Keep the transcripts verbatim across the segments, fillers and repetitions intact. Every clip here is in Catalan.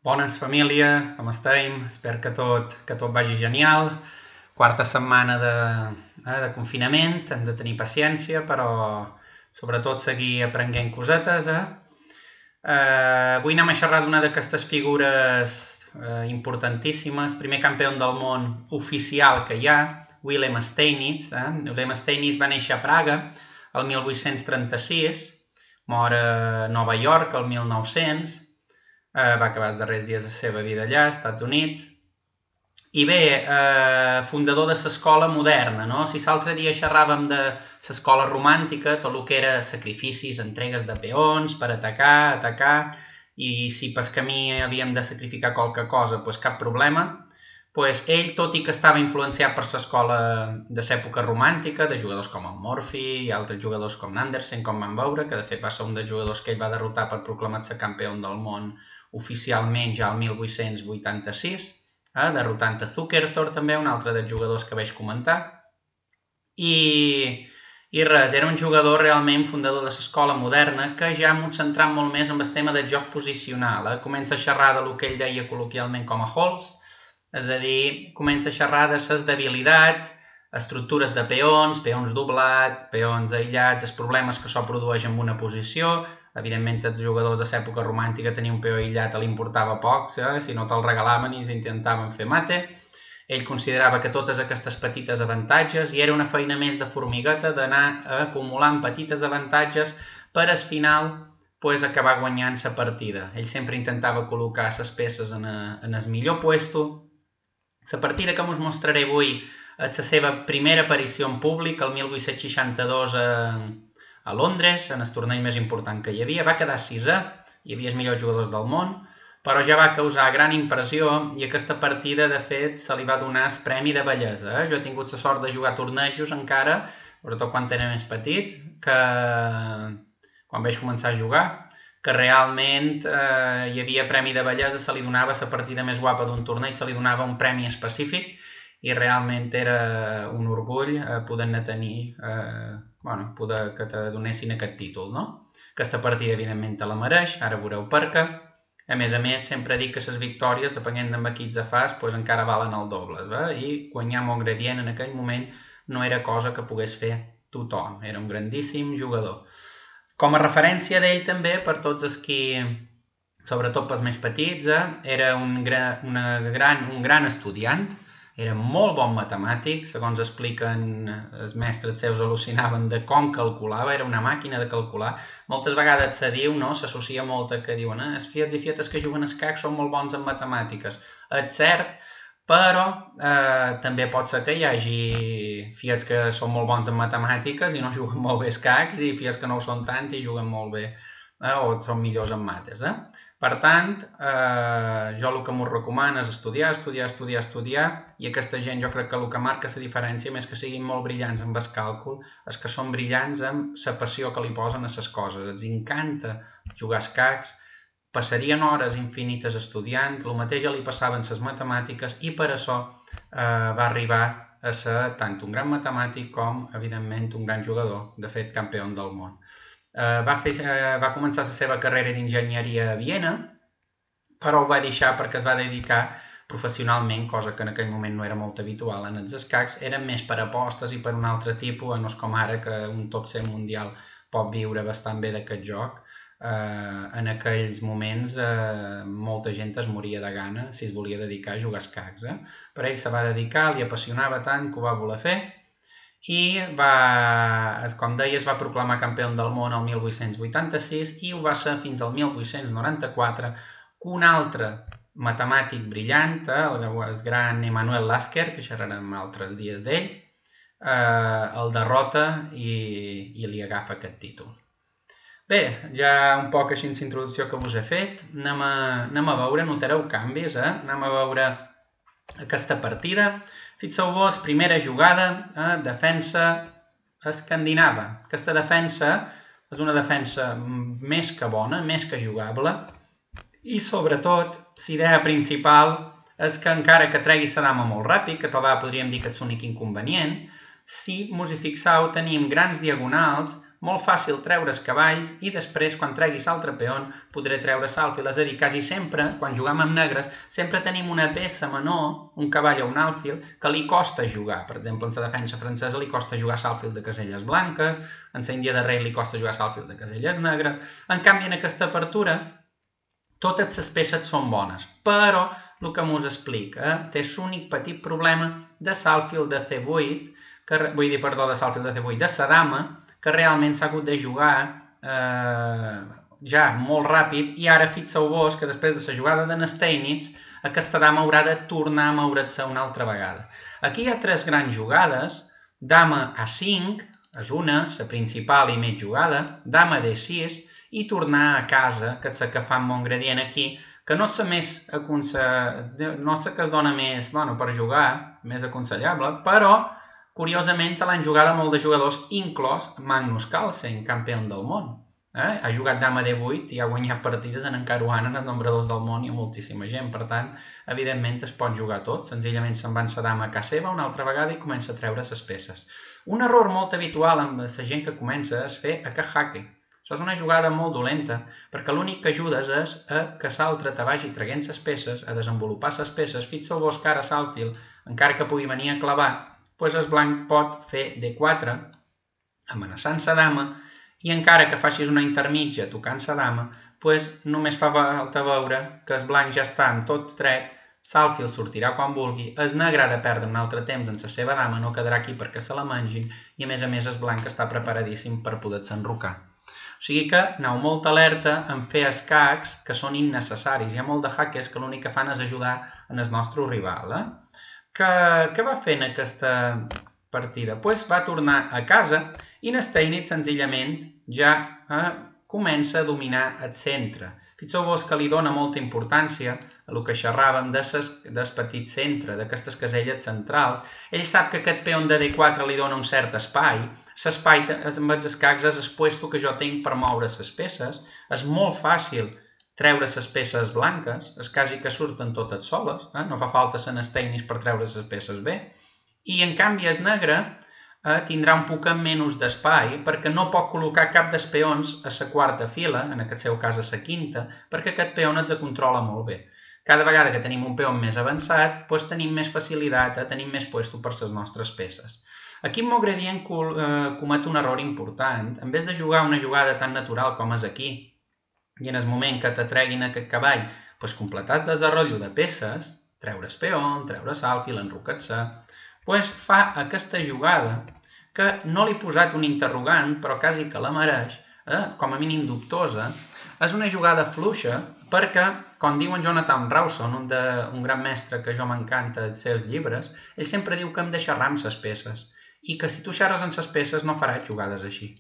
Bones, família, com estem? Espero que tot, que tot vagi genial. Quarta setmana de, eh, de confinament, hem de tenir paciència, però sobretot seguir aprenent cosetes. Eh? Eh, avui anem a xerrar d'una d'aquestes figures eh, importantíssimes. Primer campió del món oficial que hi ha, Willem Steinitz. Eh? Willem Steinitz va néixer a Praga el mil vuit-cents trenta-sis, mor a Nova York el mil nou-cents, Uh, va acabar els darrers dies de la seva vida allà, als Estats Units. I bé, uh, fundador de l'escola moderna, no? Si l'altre dia xerràvem de l'escola romàntica, tot el que era sacrificis, entregues de peons per atacar, atacar, i si pel camí havíem de sacrificar qualque cosa, doncs cap problema. Pues ell, tot i que estava influenciat per l'escola de l'època romàntica, de jugadors com el Murphy i altres jugadors com Andersen, com vam veure, que de fet va ser un dels jugadors que ell va derrotar per proclamar-se campió del món oficialment ja el mil vuit-cents vuitanta-sis, eh, derrotant a Zukertor també, un altre dels jugadors que vaig comentar. I, i res, era un jugador realment fundador de l'escola moderna que ja m'ho centrat molt més en el tema del joc posicional. Eh? Comença a xerrar de lo que ell deia col·loquialment com a holes, és a dir, comença a xerrar de les debilitats, estructures de peons, peons doblats, peons aïllats, els problemes que això produeix en una posició. Evidentment, els jugadors de l'època romàntica tenien un peó aïllat, li importava poc, eh? Si no te'l regalaven i s'intentaven fer mate. Ell considerava que totes aquestes petites avantatges, i era una feina més de formigueta, d'anar acumulant petites avantatges per al final pues, acabar guanyant la partida. Ell sempre intentava col·locar les peces en, a, en el millor puesto. La partida que us mostraré avui és la seva primera aparició en públic, el mil vuit-cents seixanta-dos a, a Londres, en el torneig més important que hi havia. Va quedar sisè, hi havia els millors jugadors del món, però ja va causar gran impressió i aquesta partida, de fet, se li va donar el premi de bellesa. Eh? Jo he tingut la sort de jugar tornejos encara, sobretot quan era més petit, que quan vaig començar a jugar, que realment eh, hi havia premi de bellesa, se li donava la partida més guapa d'un torneig, se li donava un premi específic i realment era un orgull eh, poder-ne tenir, eh, bueno, poder que te donessin aquest títol, no? Aquesta partida, evidentment, te la mereix, ara veureu per què. A més a més, sempre dic que les victòries, depenent de qui ets fas, doncs encara valen el doble, eh? I guanyar amb un gradient en aquell moment no era cosa que pogués fer tothom, era un grandíssim jugador. Com a referència d'ell també, per tots els qui, sobretot pels més petits, eh, era un, gra, una gran, un gran estudiant, era molt bon matemàtic, segons expliquen els mestres seus al·lucinaven de com calculava, era una màquina de calcular. Moltes vegades se diu, no? S'associa molt a que diuen eh, els fiats i fietes que juguen a escacs són molt bons en matemàtiques. És cert, però eh, també pot ser que hi hagi fiats que són molt bons en matemàtiques i no juguen molt bé escacs i fiats que no ho són tant i juguen molt bé eh, o són millors en mates. Eh? Per tant, eh, jo el que m'ho recomano és estudiar, estudiar, estudiar, estudiar i aquesta gent jo crec que el que marca la diferència, més que siguin molt brillants amb el càlcul, és que són brillants amb la passió que li posen a les coses. Els encanta jugar escacs, passarien hores infinites estudiant, el mateix ja li passaven les matemàtiques i per això eh, va arribar a ser tant un gran matemàtic com, evidentment, un gran jugador, de fet, campió del món. Eh, va, fer, eh, va començar la seva carrera d'enginyeria a Viena, però ho va deixar perquè es va dedicar professionalment, cosa que en aquell moment no era molt habitual en els escacs, eren més per apostes i per un altre tipus, no és com ara que un top cent mundial pot viure bastant bé d'aquest joc. Uh, en aquells moments uh, molta gent es moria de gana si es volia dedicar a jugar escacs. Eh? Però ell se va dedicar, li apassionava tant que ho va voler fer i va, com deia, es va proclamar campió del món el mil vuit-cents vuitanta-sis i ho va ser fins al mil vuit-cents noranta-quatre que un altre matemàtic brillant, eh, el gran Emanuel Lasker, que xerrarem altres dies d'ell, uh, el derrota i, i li agafa aquest títol. Bé, ja un poc així la introducció que us he fet, anem a, anem a veure, notareu canvis, eh? Anem a veure aquesta partida. Fixeu-vos, primera jugada, eh? Defensa escandinava. Aquesta defensa és una defensa més que bona, més que jugable, i sobretot, la idea principal és que encara que tregui la dama molt ràpid, que tal vegada podríem dir que és l'únic inconvenient, si mos hi fixeu tenim grans diagonals molt fàcil treure els cavalls i després, quan treguis l'altre peon, podré treure l'alfil. És a dir, quasi sempre, quan juguem amb negres, sempre tenim una peça menor, un cavall o un alfil, que li costa jugar. Per exemple, en la defensa francesa li costa jugar l'alfil de caselles blanques, en la Índia de rei li costa jugar l'alfil de caselles negres. En canvi, en aquesta apertura, totes les peces són bones, però el que m'us explica té l'únic petit problema de l'alfil de ce vuit, que, vull dir, perdó, de l'alfil de ce vuit, de la dama, que realment s'ha hagut de jugar eh, ja molt ràpid, i ara fixeu-vos que després de la jugada de Steinitz, aquesta dama haurà de tornar a moure's una altra vegada. Aquí hi ha tres grans jugades: dama a cinc, és una, la principal i més jugada, dama de sis, i tornar a casa, que és la que fa amb Montgredient aquí, que no és la més no és la que es dona més bueno, per jugar, més aconsellable, però curiosament l'han jugada molt de jugadors, inclòs Magnus Carlsen, campió del món. Eh? Ha jugat dama de vuit i ha guanyat partides en encaruant en els nombradors del món i moltíssima gent. Per tant, evidentment es pot jugar tot. Senzillament se'n va en sa dama a casa seva una altra vegada i comença a treure les peces. Un error molt habitual amb la gent que comença és fer a que jaque. Això és una jugada molt dolenta, perquè l'únic que ajudes és a que l'altre te vagi traient les peces, a desenvolupar les peces. Fixeu-vos que ara l'alfil, encara que pugui venir a clavar, doncs el blanc pot fer de quatre, amenaçant la dama, i encara que facis una intermitja tocant la dama, doncs només fa falta veure que el blanc ja està en tot dret, l'alfil sortirà quan vulgui, el negre ha de perdre un altre temps en la seva dama, no quedarà aquí perquè se la mengin, i a més a més el blanc està preparadíssim per poder-se enrocar. O sigui que aneu molt alerta en fer escacs que són innecessaris. Hi ha molt de hackers que l'únic que fan és ajudar en el nostre rival. Eh? Què va fer en aquesta partida? Pues va tornar a casa i Steinitz senzillament ja eh, comença a dominar el centre. Fixeu-vos que li dona molta importància a el que xerràvem del petit centre, d'aquestes caselles centrals. Ell sap que aquest peó de D quatre li dona un cert espai. L'espai amb els escacs és el puesto que jo tinc per moure les peces. És molt fàcil treure les peces blanques, és quasi que surten totes soles, eh? No fa falta ser Steinitz per treure les peces bé. I en canvi el negre eh, tindrà un poc menys d'espai perquè no pot col·locar cap dels peons a la quarta fila, en aquest seu cas a la quinta, perquè aquest peó ens controla molt bé. Cada vegada que tenim un peó més avançat, doncs tenim més facilitat, eh? Tenim més puesto per les nostres peces. Aquí en Montgredient eh, comet un error important. En vez de jugar una jugada tan natural com és aquí, i en el moment que t'atreguin aquest cavall, doncs completar el desenrotllo de peces, treure el peó, treure l'alfil, enrocar-se, doncs fa aquesta jugada que no li he posat un interrogant, però quasi que la mereix, eh? Com a mínim dubtosa. És una jugada fluixa perquè, com diu en Jonathan Rawson, un, de, un gran mestre que jo m'encanta els seus llibres, ell sempre diu que hem de xerrar amb les peces i que si tu xerres amb les peces no faràs jugades així.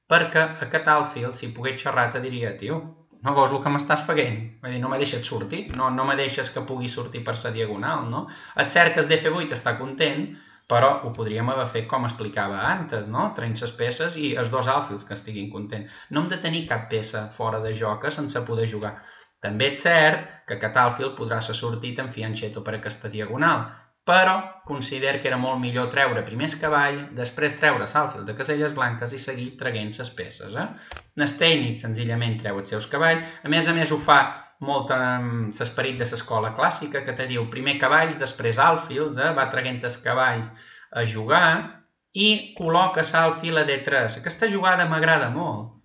Perquè aquest alfil, si pogués xerrar, te diria, tio, no veus el que m'estàs fent? Vull dir, no me deixes sortir, no, no me deixes que pugui sortir per la diagonal, no? Et cert que el D F vuit està content, però ho podríem haver fet com explicava antes, no? Traient les peces i els dos alfils que estiguin contents. No hem de tenir cap peça fora de joc sense poder jugar. També és cert que aquest alfil podrà ser sortit en fianchetto per aquesta diagonal, però considero que era molt millor treure primer el cavall, després treure l'alfil de caselles blanques i seguir traient les peces. Eh? Steinitz senzillament treu els seus cavalls, a més a més ho fa molt amb l'esperit de l'escola clàssica, que te diu primer cavalls, després alfils, eh? Va traient els cavalls a jugar i col·loca l'alfil a D tres. Aquesta jugada m'agrada molt,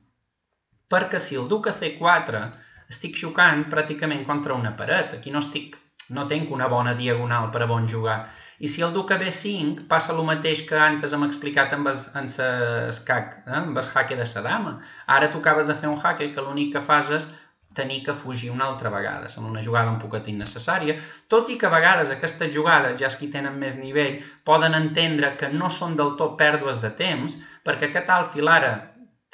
perquè si el duc a C quatre estic xocant pràcticament contra una paret, aquí no estic no tinc una bona diagonal per a bon jugar. I si el duc a B cinc passa el mateix que antes hem explicat amb l'escac, amb el jaque de la dama. Ara tu acabes de fer un jaque que l'únic que fas és tenir que fugir una altra vegada. Sembla una jugada un poquet innecessària, tot i que a vegades aquestes jugades, ja els qui tenen més nivell, poden entendre que no són del tot pèrdues de temps, perquè aquest alfil ara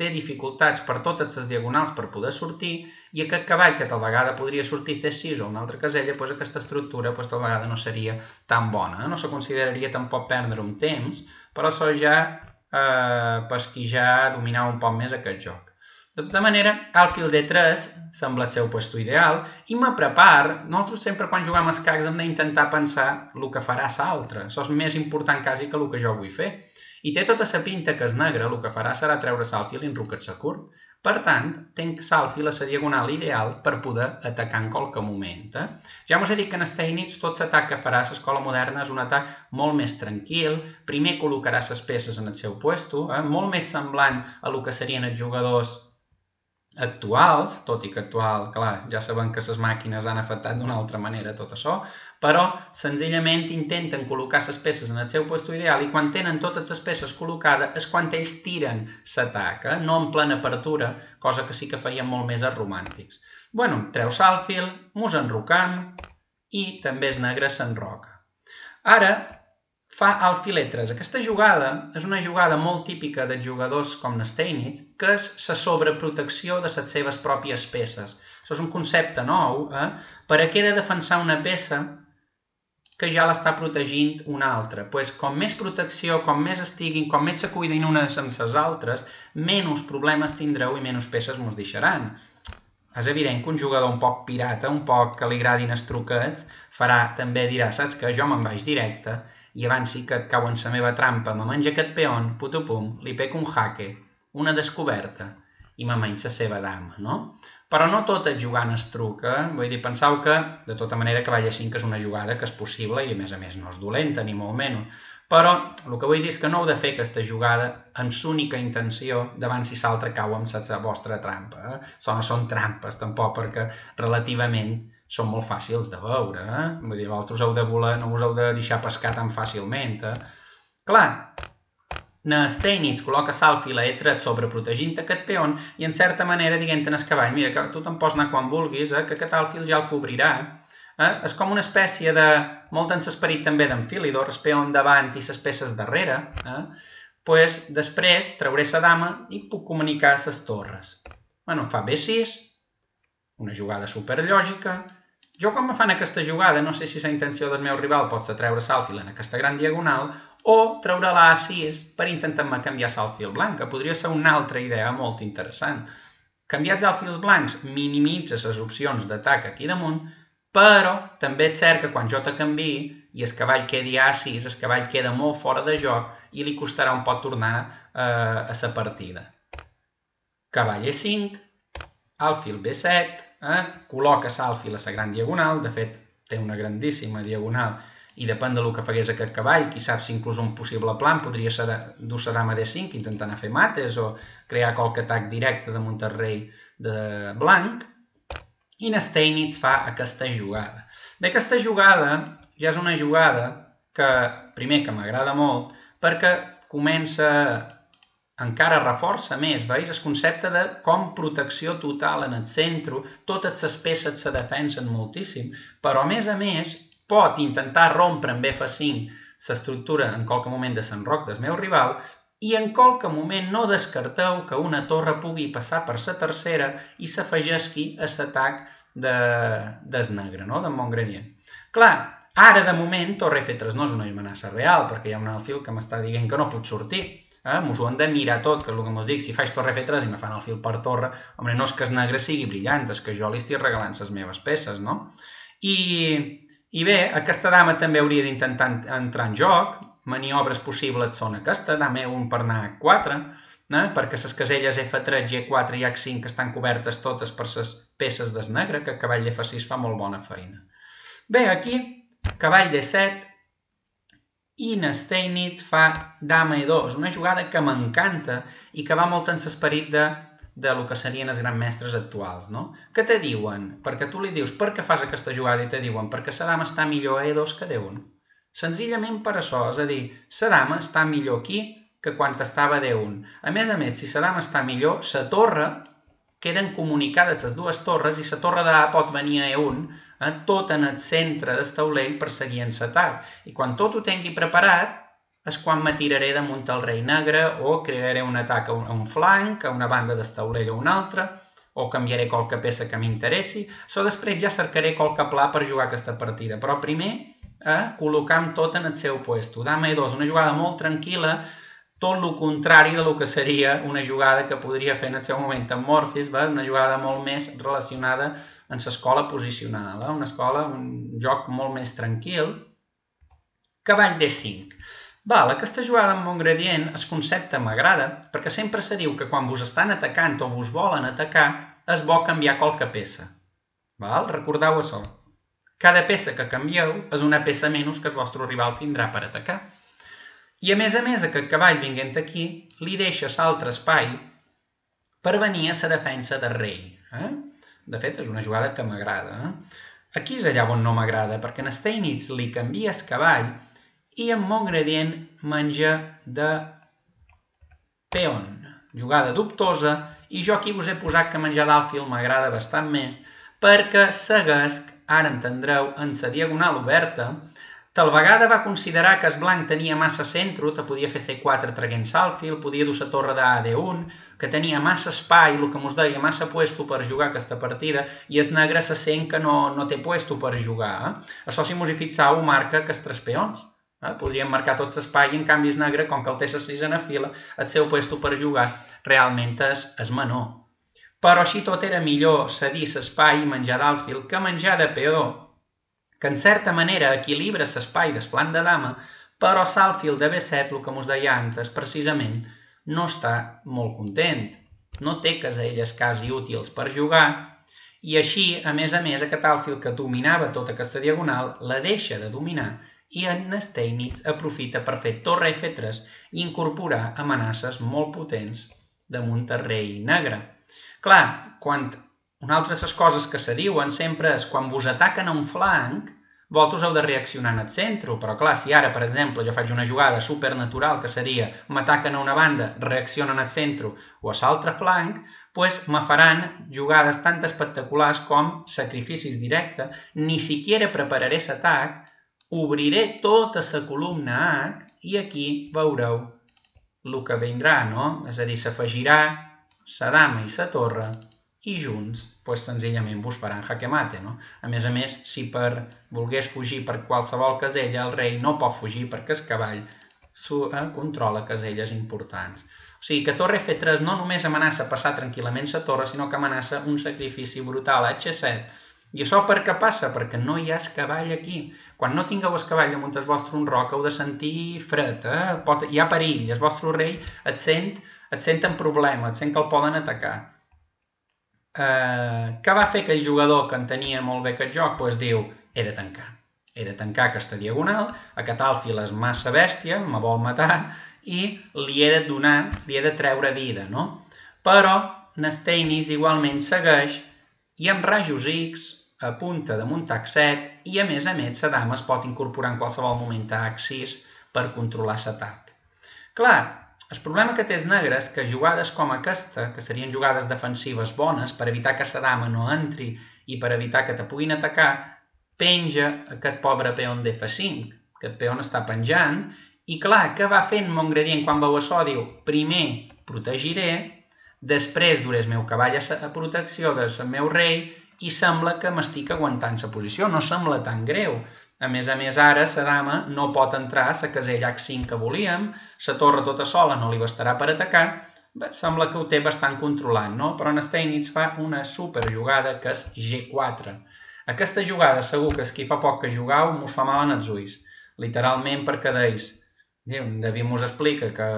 té dificultats per totes les diagonals per poder sortir, i aquest cavall que tal vegada podria sortir C sis o una altra casella, doncs aquesta estructura doncs, tal vegada no seria tan bona. No se consideraria tampoc perdre un temps, però això ja eh, pues, qui ja dominava un poc més aquest joc. De tota manera, alfil D tres sembla el seu puesto ideal i me prepar. Nosaltres sempre quan juguem a escacs hem d'intentar pensar el que farà l'altre. Això és més important quasi que el que jo vull fer. I té tota la pinta que és negre, el que farà serà treure l'alfil i enrocar-se curt. Per tant, tenc l'alfil a la diagonal ideal per poder atacar en qualque moment. Eh? Ja us he dit que en Steinitz tot l'atac que farà l'escola moderna és un atac molt més tranquil, primer col·locarà les peces en el seu puesto, eh? molt més semblant a el que serien els jugadors actuals, tot i que actual, clar, ja sabem que les màquines han afectat d'una altra manera tot això, però senzillament intenten col·locar les peces en el seu lloc ideal i quan tenen totes les peces col·locades és quan ells tiren l'atac, eh? no en plena apertura, cosa que sí que feien molt més els romàntics. Bueno, treu l'alfil, mos enrocam i també és negre s'enroca. Ara, fa alfiletres. Aquesta jugada és una jugada molt típica dels jugadors com Steinitz, que és la sobreprotecció de les seves pròpies peces. Això és un concepte nou, eh? Per a què he de defensar una peça que ja l'està protegint una altra? Pues, com més protecció, com més estiguin, com més se cuidin unes amb les altres, menys problemes tindreu i menys peces mos deixaran. És evident que un jugador un poc pirata, un poc que li agradin els truquets, farà també dirà, saps que jo me'n vaig directe, i abans sí que et cau en la meva trampa, me menja aquest peón, putupum, li pec un jaque, una descoberta, i me menys la seva dama, no? Però no tot és jugant es truc, eh? Vull dir, penseu que, de tota manera, cavall a cinc és una jugada que és possible i, a més a més, no és dolenta, ni molt menys. Però el que vull dir és que no heu de fer aquesta jugada amb l'única intenció davant si l'altre cau amb la vostra trampa. Eh? Això no són trampes, tampoc, perquè relativament són molt fàcils de veure. Eh? Vull dir, vosaltres heu de voler, no us heu de deixar pescar tan fàcilment. Eh? Clar, en Steinitz col·loca l'alfil a tret sobreprotegint aquest peón i en certa manera dient en el cavall, mira, que tu te'n pots anar quan vulguis, eh? que aquest alfil ja el cobrirà. Eh? És com una espècie de, molt en l'esperit també d'Enfilidor, el peó davant i les peces darrere. Eh? Pues, després trauré la dama i puc comunicar les torres. Bueno, fa be sis, una jugada superlògica. Jo quan me fan aquesta jugada, no sé si la intenció del meu rival pot ser treure l'alfil en aquesta gran diagonal o treure la a sis per intentar-me canviar l'alfil blanc, que podria ser una altra idea molt interessant. Canviar els alfils blancs minimitza les opcions d'atac aquí damunt, però també és cert que quan jo te canviï i el cavall quedi a sis, el cavall queda molt fora de joc i li costarà un poc tornar eh, a la partida. Cavall e cinc, alfil be set, eh? col·loca l'alfil a la gran diagonal, de fet té una grandíssima diagonal i depèn del que fagués aquest cavall, qui sap si inclús un possible plan podria ser dur la dama de cinc intentant fer mates o crear qualque atac directe damunt el rei de blanc. I en Steinitz fa aquesta jugada. Bé, aquesta jugada ja és una jugada que, primer, que m'agrada molt, perquè comença, encara reforça més, veus? El concepte de com protecció total en el centre, totes les peces se defensen moltíssim, però a més a més pot intentar rompre amb efa cinc l'estructura en qualque moment de l'enroc del meu rival i en qualque moment no descarteu que una torre pugui passar per la tercera i s'afegesqui a l'atac del negre, no? del Montgredien. Clar, ara de moment torre efa tres no és una amenaça real perquè hi ha un alfil que m'està dient que no pot sortir. Eh? Mos ho hem de mirar tot, que és el que mos dic, si faig torre efa tres i me fan el fil per torre, home, no és que el negre sigui brillant, és que jo li estic regalant les meves peces, no? I, i bé, aquesta dama també hauria d'intentar entrar en joc, maniobres possibles són aquesta, dama e un per anar a hac quatre, eh? perquè les caselles efa tres, ge quatre i hac cinc estan cobertes totes per les peces del negre, que el cavall d'efa sis fa molt bona feina. Bé, aquí, cavall de set, i en Steinitz fa dama e dos, una jugada que m'encanta i que va molt en l'esperit de, de lo que serien els grans mestres actuals, no? Que te diuen, perquè tu li dius per què fas aquesta jugada i te diuen perquè la dama està millor a e dos que a de un. Senzillament per això, és a dir, la dama està millor aquí que quan estava a de un. A més a més, si la dama està millor, la torre, queden comunicades les dues torres i la torre de A pot venir a e un, eh, tot en el centre del taulell per seguir en l'atac. I quan tot ho tingui preparat, és quan me tiraré damunt el rei negre o crearé un atac a un, a un flanc, a una banda del taulell o una altra, o canviaré qualque peça que m'interessi. Això després ja cercaré qualque pla per jugar aquesta partida, però primer eh, col·locam tot en el seu puesto. Dama e dos, una jugada molt tranquil·la, tot el contrari del que seria una jugada que podria fer en el seu moment en Morphis, una jugada molt més relacionada amb l'escola posicional, una escola, un joc molt més tranquil. Cavall de cinc. Val, aquesta jugada amb bon gradient, el concepte m'agrada, perquè sempre se diu que quan vos estan atacant o vos volen atacar, és bo canviar qualque peça. Val? Recordeu això. Cada peça que canvieu és una peça menys que el vostre rival tindrà per atacar. I a més a més, aquest cavall vinguent aquí, li deixa l'altre espai per venir a la defensa del rei. Eh? De fet, és una jugada que m'agrada. Eh? Aquí és allà on no m'agrada, perquè en Steinitz li canvia el cavall i amb bon gradient menja de peon. Jugada dubtosa, i jo aquí vos he posat que menjar d'alfil m'agrada bastant més, perquè seguesc, ara entendreu, en la diagonal oberta, tal vegada va considerar que el blanc tenia massa centre, te podia fer ce quatre traient l'alfil, podia dur la torre de a de un, que tenia massa espai, el que mos deia, massa puesto per jugar aquesta partida, i el negre se sent que no, no té puesto per jugar. Eh? Això, si mos hi fixau, marca que els tres peons. Eh? Podríem marcar tot l'espai i en canvi el negre, com que el té la sisena fila, el seu puesto per jugar realment és, és menor. Però així tot era millor cedir l'espai i menjar d'alfil que menjar de peó, que en certa manera equilibra l'espai del flanc de dama, però l'alfil de be set, el que mos deia antes, precisament, no està molt content. No té caselles quasi útils per jugar, i així, a més a més, aquest alfil que dominava tota aquesta diagonal la deixa de dominar i en Steinitz aprofita per fer torre efe tres i incorporar amenaces molt potents damunt el rei negre. Clar, quan una altra de les coses que se diuen sempre és quan vos ataquen a un flanc, vosaltres heu de reaccionar en el centre, però clar, si ara, per exemple, jo faig una jugada supernatural que seria m'ataquen a una banda, reaccionen al centre o a l'altre flanc, doncs me faran jugades tan espectaculars com sacrificis directes, ni siquiera prepararé l'atac, obriré tota la columna H i aquí veureu el que vindrà, no? És a dir, s'afegirà la dama i la torre i junts, doncs senzillament vos faran jaque mate, no? A més a més, si per volgués fugir per qualsevol casella, el rei no pot fugir perquè el cavall controla caselles importants. O sigui que torre efe tres no només amenaça passar tranquil·lament la torre, sinó que amenaça un sacrifici brutal a hache set. I això per què passa? Perquè no hi ha el cavall aquí. Quan no tingueu el cavall damunt el vostre unroc heu de sentir fred, eh? Pot, hi ha perill, el vostre rei et sent, et sent en problema, et sent que el poden atacar. Eh, què va fer aquell jugador que entenia molt bé aquest joc? Doncs diu, he de tancar. He de tancar aquesta diagonal, aquest alfil és massa bèstia, me vol matar, i li he de donar, li he de treure vida, no? Però Steinitz igualment segueix i amb rajos X apunta damunt hac set i a més a més la dama es pot incorporar en qualsevol moment a hac sis per controlar l'atac. Clar, el problema que té els negres és que jugades com aquesta, que serien jugades defensives bones per evitar que la dama no entri i per evitar que te puguin atacar, penja aquest pobre peon d'efe cinc. Aquest peon està penjant i clar, què va fent mon gradient quan veu això? Diu, primer protegiré, després duré el meu cavall a protecció del meu rei i sembla que m'estic aguantant la posició, no sembla tan greu. A més a més, ara la dama no pot entrar a la casella hac cinc que volíem, la torre tota sola no li bastarà per atacar, bé, sembla que ho té bastant controlat, no? Però en Steinitz fa una superjugada que és ge quatre. Aquesta jugada segur que és qui fa poc que jugau mos fa mal en els ulls, literalment perquè deis, David mos explica que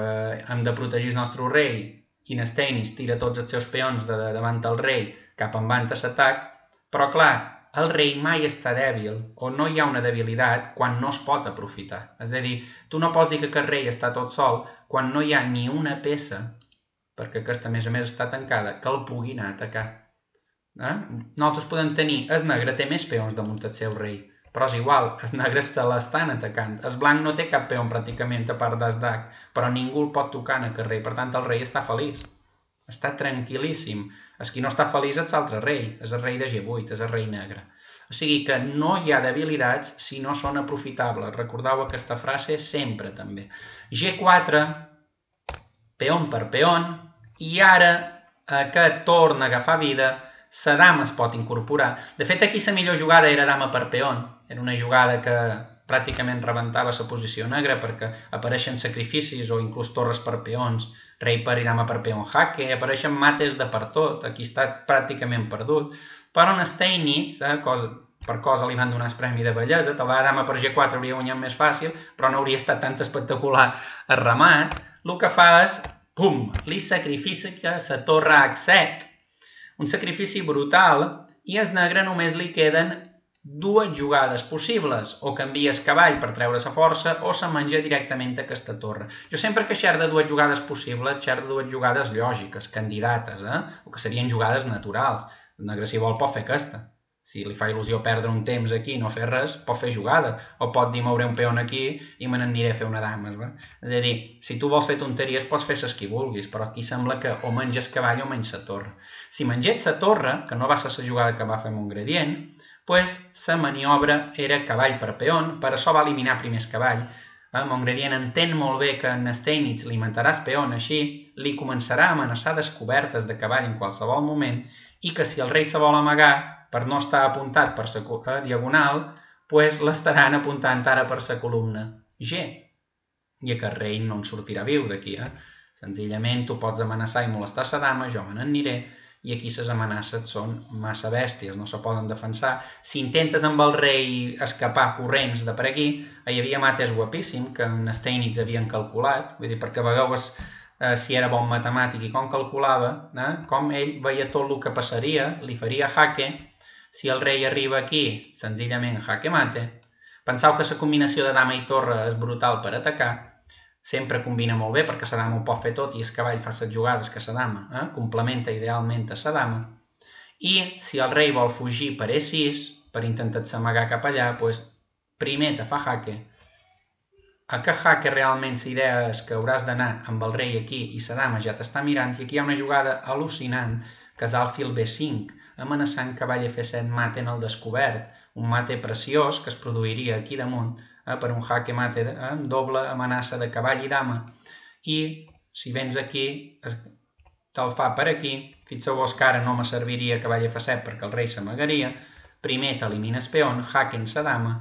hem de protegir el nostre rei i en Steinitz tira tots els seus peons de davant del rei cap endavant a l'atac, però clar, el rei mai està dèbil o no hi ha una debilitat quan no es pot aprofitar. És a dir, tu no pots dir que aquest rei està tot sol quan no hi ha ni una peça, perquè aquesta a més a més està tancada, que el pugui anar a atacar. Eh? Nosaltres podem tenir, el negre té més peons damunt el seu rei, però és igual, els negres te l'estan atacant. El blanc no té cap peon pràcticament a part del dac, però ningú el pot tocar en aquest rei, per tant el rei està feliç. Està tranquil·líssim. El qui no està feliç és l'altre rei, és el rei de ge vuit, és el rei negre. O sigui que no hi ha debilitats si no són aprofitables. Recordeu aquesta frase sempre també. ge quatre, peon per peon, i ara aquest torna a agafar vida, la dama es pot incorporar. De fet, aquí la millor jugada era dama per peon. Era una jugada que pràcticament rebentava la posició negra perquè apareixen sacrificis o inclús torres per peons, rei per i dama per peon jaque, apareixen mates de per tot, aquí està pràcticament perdut, però en Steinitz, eh, cosa, per cosa li van donar el premi de bellesa, tal vegada dama per ge quatre hauria guanyat més fàcil, però no hauria estat tan espectacular el remat. El que fa és, pum, li sacrifica la torre hac set. Un sacrifici brutal, i al negre només li queden dues jugades possibles, o canvia el cavall per treure la força o se menja directament aquesta torre. Jo sempre que xer de dues jugades possibles, xer de dues jugades lògiques, candidates, eh? O que serien jugades naturals. El negre, si vol, pot fer aquesta. Si li fa il·lusió perdre un temps aquí i no fer res, pot fer jugada. O pot dir, mouré un peó aquí i me n'aniré a fer una dama. És a dir, si tu vols fer tonteries, pots fer les que vulguis, però aquí sembla que o menges cavall o menys la torre. Si mengets la torre, que no va ser la jugada que va fer Montgredient, pues la maniobra era cavall per peón, per això va eliminar primer el cavall. Montgredient entén molt bé que en Steinitz li matarà el peón, així li començarà a amenaçar descobertes de cavall en qualsevol moment i que si el rei se vol amagar per no estar apuntat per la diagonal, pues l'estaran apuntant ara per la columna G. I aquest rei no en sortirà viu d'aquí. Eh? Senzillament tu pots amenaçar i molestar la dama, jo me n'aniré, i aquí les amenaces són massa bèsties, no se poden defensar. Si intentes amb el rei escapar corrents de per aquí, hi havia mates guapíssim que en Steinitz havien calculat, vull dir, perquè vegeu eh, si era bon matemàtic i com calculava, eh, com ell veia tot el que passaria, li faria jaque, si el rei arriba aquí, senzillament jaque mate. Penseu que la combinació de dama i torre és brutal per atacar, sempre combina molt bé perquè la dama ho pot fer tot i el cavall fa les jugades que la dama, eh? complementa idealment a la dama. I si el rei vol fugir per e sis, per intentar-se amagar cap allà, doncs primer te fa jaque. Aquest jaque realment la idea és que hauràs d'anar amb el rei aquí i la dama ja t'està mirant, i aquí hi ha una jugada al·lucinant que és alfil be cinc, amenaçant cavall efe set mate en el descobert, un mate preciós que es produiria aquí damunt, Eh, per un jaque mate eh, amb doble amenaça de cavall i dama, i si vens aquí te'l fa per aquí. Fixeu-vos que ara no me serviria cavall efe set perquè el rei s'amagaria, primer t'elimines peón, jaque en sa dama,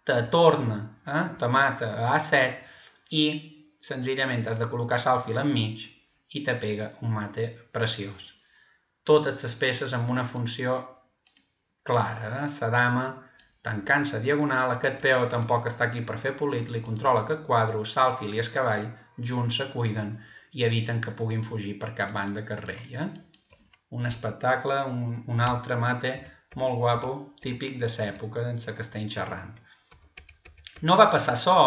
te torna, eh, te mata a a set i senzillament has de col·locar l'alfil enmig i te pega un mate preciós. Totes les peces amb una funció clara, eh? La dama tancant la diagonal, aquest peó tampoc està aquí per fer polit, li controla aquest quadre, l'alfil i el cavall junts se cuiden i eviten que puguin fugir per cap banda que el rei. Eh? Un espectacle, un, un altre mate molt guapo, típic de l'època en la que estem xerrant. No va passar açò,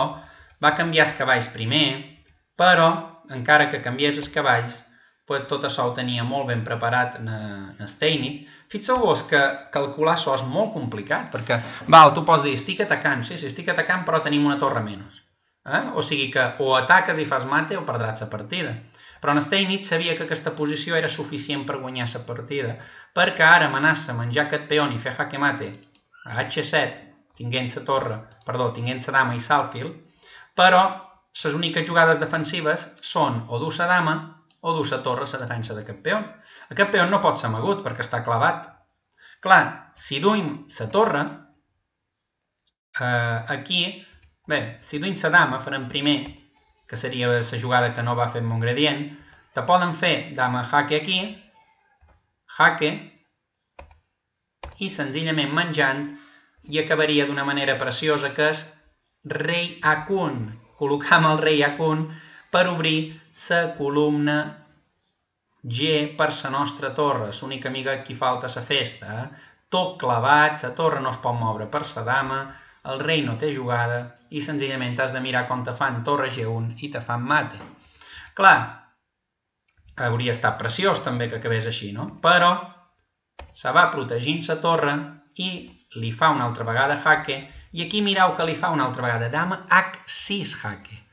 va canviar els cavalls primer, però encara que canviés els cavalls, pues tot això ho tenia molt ben preparat en Steinitz. Fixeu-vos que calcular això és molt complicat, perquè val, tu pots dir, estic atacant, sí, sí, estic atacant, però tenim una torre menys. Eh? O sigui que o ataques i fas mate o perdràs la partida. Però en Steinitz sabia que aquesta posició era suficient per guanyar la partida, perquè ara amenaça menjar aquest peón i fer jaque mate a hac set, tinguent la torre, perdó, tinguent la dama i l'alfil, però les úniques jugades defensives són o dur la dama o dur la torre a la defensa d'aquest peón. Aquest peón no pot ser amagut perquè està clavat. Clar, si duim la torre, eh, aquí, bé, si duim la dama, farem primer, que seria la jugada que no va fer Montgredient, te poden fer dama jaque aquí, jaque, i senzillament menjant, i acabaria d'una manera preciosa, que és rei hac un. Col·locam el rei hac un per obrir la columna G per la nostra torre, l'única amiga que falta a la festa. Eh? Tot clavat, la torre no es pot moure per la dama, el rei no té jugada i senzillament has de mirar com te fan torre ge un i te fan mate. Clar, hauria estat preciós també que acabés així, no? Però se va protegint la torre i li fa una altra vegada jaque, i aquí mireu que li fa una altra vegada dama hac sis jaque.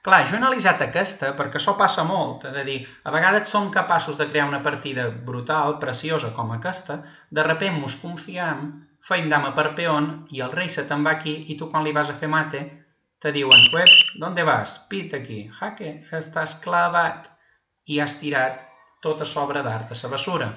Clar, jo he analitzat aquesta perquè això passa molt, és a dir, a vegades som capaços de crear una partida brutal, preciosa com aquesta, de repent mos confiem, feim dama per peón i el rei se te'n va aquí i tu quan li vas a fer mate te diuen, pues, ¿dónde vas? Pit aquí, jaque, estàs clavat i has tirat tota l'obra d'art a la bessura.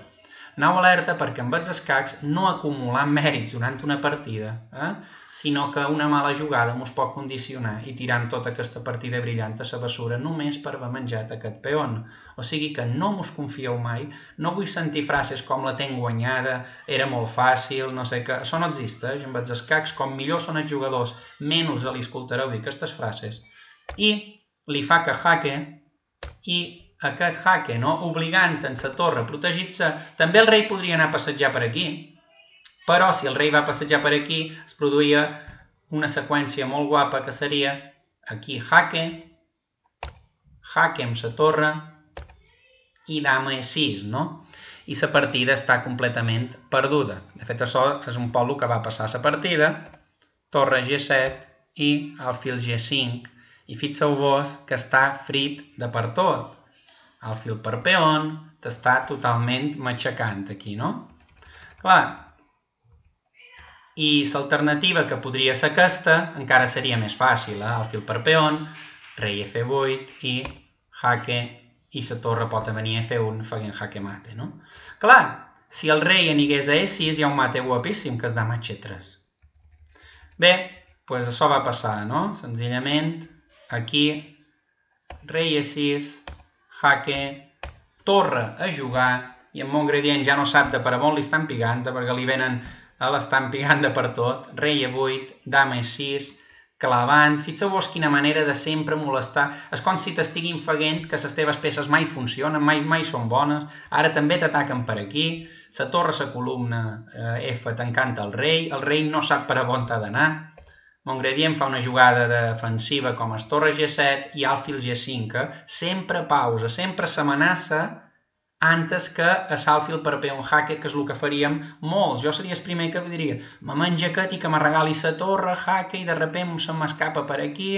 Anau alerta perquè amb els escacs no acumular mèrits durant una partida, eh? sinó que una mala jugada mos pot condicionar i tirant tota aquesta partida brillant a la bessura només per haver menjat aquest peón. O sigui que no mos confieu mai, no vull sentir frases com la tenc guanyada, era molt fàcil, no sé què, això no existeix amb els escacs, com millor són els jugadors, menys li escoltareu dir aquestes frases. I li fa que jaque i aquest jaque, no? obligant en la torre a protegir-se. També el rei podria anar a passejar per aquí, però si el rei va passejar per aquí es produïa una seqüència molt guapa que seria aquí jaque, jaque amb la torre i dama e sis, no? I la partida està completament perduda. De fet, això és un poc el que va passar a la partida. Torre ge set i alfil ge cinc. I fixeu-vos que està frit de per tot. Alfil per peón, t'està totalment matxacant aquí, no? Clar, i l'alternativa que podria ser aquesta encara seria més fàcil, eh? Alfil per peón, rei efe vuit i jaque, i la torre pot venir a efe un fent jaque mate, no? Clar, si el rei anigués a e sis hi ha un mate guapíssim que és dama hache tres. Bé, doncs això va passar, no? Senzillament, aquí, rei e sis, jaque, torre a jugar, i en mon gradient ja no sap de per on li estan pigant, perquè li venen a l'estan pigant de per tot, rei e vuit, dama e sis, clavant, fixeu-vos quina manera de sempre molestar, és com si t'estiguin feient que les teves peces mai funcionen, mai, mai són bones, ara també t'ataquen per aquí, la torre, la columna eh, F t'encanta el rei, el rei no sap per on t'ha d'anar, Mongredient fa una jugada defensiva com es torre ge set i alfil ge cinc, sempre pausa, sempre s'amenaça antes que a l'alfil per peón jaque, que és el que faríem molts. Jo seria el primer que diria, me menja aquest i que me regali la torre, jaque, i de repente se m'escapa per aquí,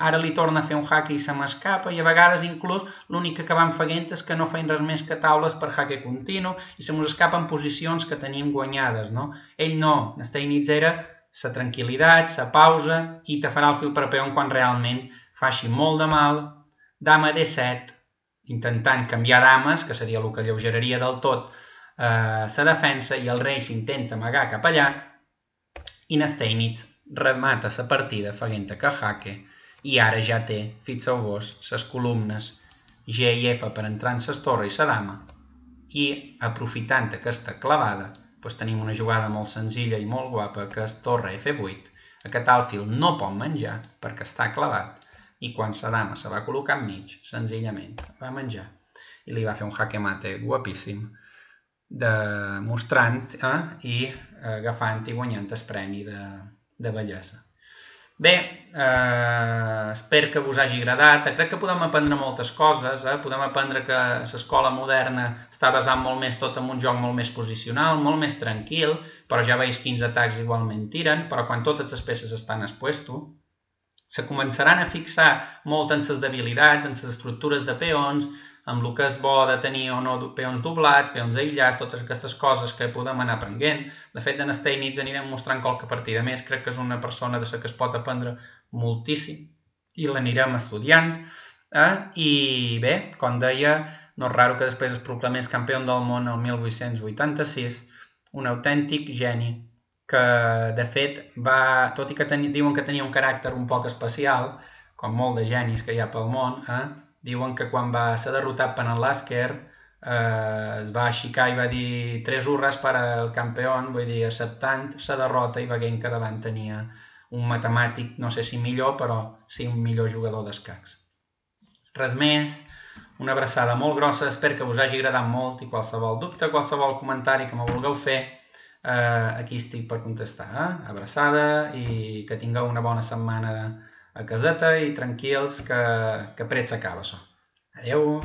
ara li torna a fer un jaque i se m'escapa, i a vegades inclús l'únic que acabam fent és que no feim res més que taules per jaque continu i se mos escapen posicions que tenim guanyades, no? Ell no, Steinitz era la tranquil·litat, la pausa, i te farà el fil per peón quan realment faci molt de mal. Dama de set, intentant canviar dames, que seria el que alleugeraria del tot la eh, defensa, i el rei s'intenta amagar cap allà, i Steinitz remata la partida fent que jaque, i ara ja té, fixeu-vos, les columnes G i F per entrar en les torres i la dama, i aprofitant aquesta clavada, doncs tenim una jugada molt senzilla i molt guapa, que és torre efe vuit. Aquest alfil no pot menjar perquè està clavat, i quan la dama se va col·locar enmig, senzillament va menjar. I li va fer un jaque mate guapíssim, mostrant eh, i agafant i guanyant el premi de, de bellesa. Bé, eh, espero que us hagi agradat. Crec que podem aprendre moltes coses. Eh? Podem aprendre que l'escola moderna està basant molt més tot en un joc molt més posicional, molt més tranquil, però ja veus quins atacs igualment tiren, però quan totes les peces estan al puesto, se començaran a fixar molt en les debilitats, en les estructures de peons, amb el que és bo de tenir o no peons doblats, peons aïllats, totes aquestes coses que podem anar aprenent. De fet, en Steinitz anirem mostrant qualque partida més, crec que és una persona de la que es pot aprendre moltíssim i l'anirem estudiant. Eh? I bé, com deia, no és raro que després es proclamés campió del món el mil vuit-cents vuitanta-sis, un autèntic geni que, de fet, va, tot i que teni, diuen que tenia un caràcter un poc especial, com molt de genis que hi ha pel món, eh? Diuen que quan va ser derrotat per en Lasker eh, es va aixecar i va dir tres hurres per al campió, vull dir, acceptant la derrota i veient que davant tenia un matemàtic, no sé si millor, però sí un millor jugador d'escacs. Res més, una abraçada molt grossa, espero que us hagi agradat molt i qualsevol dubte, qualsevol comentari que me vulgueu fer, eh, aquí estic per contestar. Eh? Abraçada i que tingueu una bona setmana a caseta i tranquils, que, que pret s'acaba això. Adeu!